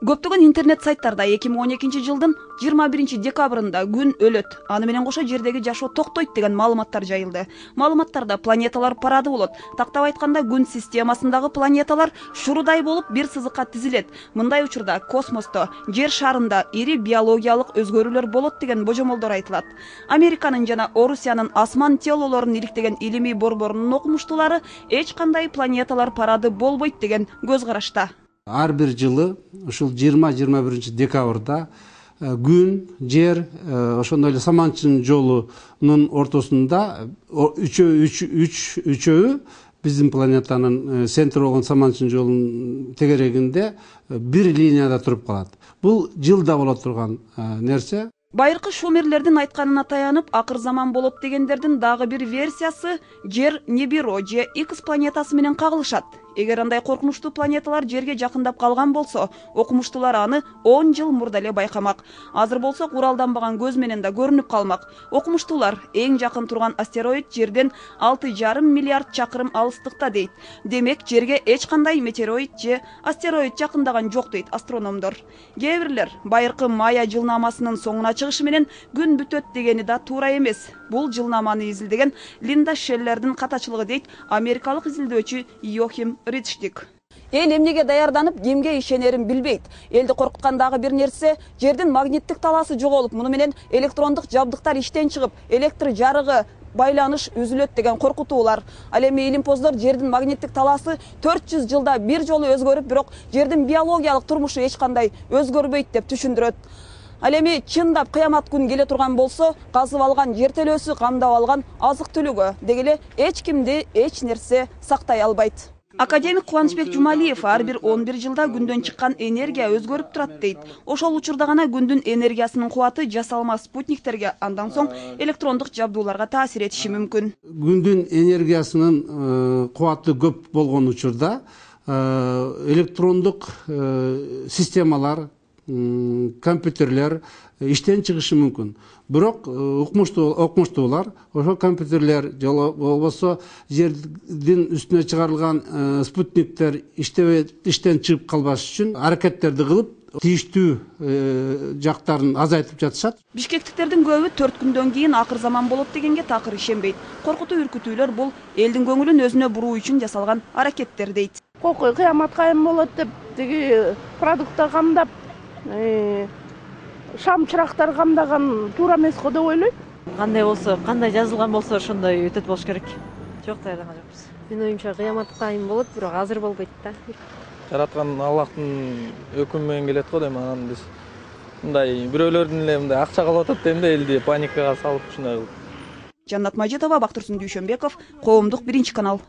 Көптөгөн интернет сайттарда 2012 жылдын 21 декабрында күн өлөт, аны менен кошо жердеги жашоо токтойт деген маалыматтар жайылды. Маалыматтарда планеталар парады болот. Тактап айтканда күн системасындагы планеталар шурудай болуп бир сызыкка тизилет. Мындай учурда космосто, жер шарында ири биологиялык өзгөрүүлөр болот деген божомолдор айтылат. Американын жана Орусиянын асман телолорун иликтеген илимий борборунун окумуштуулары эч кандай планеталар парады болбойт деген көз карашта. Ар бир жылы ушул 20-21 декабрда күн, жер, ошондой эле саманчынын жолунун ортосунда үчөө биздин планетанын центри болгон саманчынын жолунун тегерегинде бир линияда туруп калат. Бул жылда боло турган нерсе. Байыркы шумерлердин айтканына таянып, акыр заман болот дегендердин дагы бир версиясы жер Нибиро же Икс планетасы менен кагылышат. Эгер андай коркунучтуу планеталар жерге жакындап калган болсо, окумуштуулар аны 10 жыл мурда эле байкамак. Азыр болсо куралданбаган көз менен да көрүнүп калмак. Окумуштуулар эң жакын турган астероид жерден 6,5 миллиард чакырым алыстыкта дейт. Демек, жерге эч кандай метеороид же астероид жакындаган жок дейт астрономдор. Кээ бирлер байыркы Майя жылнамасынын соңуна чыгышы менен күн бүтөт дегени да туура эмес. Бул жылнаманы изилдеген Линда Шеллердин катачылыгы дейт америкалык изилдөөчү Йохим Ридштик. Эл эмнеге даярданып, кимге ишенерин билбейт. Элди коркуткан дагы бир нерсе, жердин магниттик талаасы жоголуп, муну менен электрондук жабдыктар иштен чыгып, электр жарыгы, байланыш үзүлөт деген коркутуулар. Ал эми илимпоздор жердин магниттик талаасы 400 жылда бир жолу өзгөрүп, бирок жердин биологиялык турмушу эч кандай өзгөрбөйт деп түшүндүрөт. Ал эми чындап кыямат күн келе турган болсо, казып алган жер телөөсү камдап алган азык түлүгү деги эле эч кимди эч нерсе сактай албайт. Академик Кубанычбек Жумалиев ар бир 11 жылда күндөн чыккан энергия өзгөрүп турат дейт. Ошол учурда гана күндүн энергиясынын кубаты жасалма спутниктерге, андан соң электрондук жабдууларга таасир этиши мүмкүн. Күндүн энергиясынын кубаты көп болгон учурда электрондук системалар, компьютерлер иштен чыгышы мүмкүн. Бирок окумуштуулар ошол компьютерлер же болбосо жердин үстүнө чыгарылган спутниктер иштен чыгып калбаш үчүн аракеттерди кылып, тийиштүү жактарын азайтып жатышат. Бишкектиктердин көбү 4 күндөн кийин акыр заман болот дегенге такыр ишенбейт. Коркутуу үркүтүүлөр бул элдин көңүлүн өзүнө буруу үчүн жасалган аракеттер дейт. Кокой кыямат кайым болот деп, тиги продукттар камдап, шам чырактар камдаган туура эмес го деп ойлойм. Кандай болсо, кандай жазылган болсо ошондой өтөт болуш керек. Жок, даярданган жокпуз. Менин оюмча кыямат кайым болот, бирок азыр болбойт да. Жараткан Аллахтын өкүмү менен келет го дейм, анан биз мындай бирөөлөрдүн эле мындай акча калып атат дейм да, элди паникага салып ушундай кылып. Жаннат Мажитова, Бактырсун Дүйшөнбеков, Коомдук 1 канал.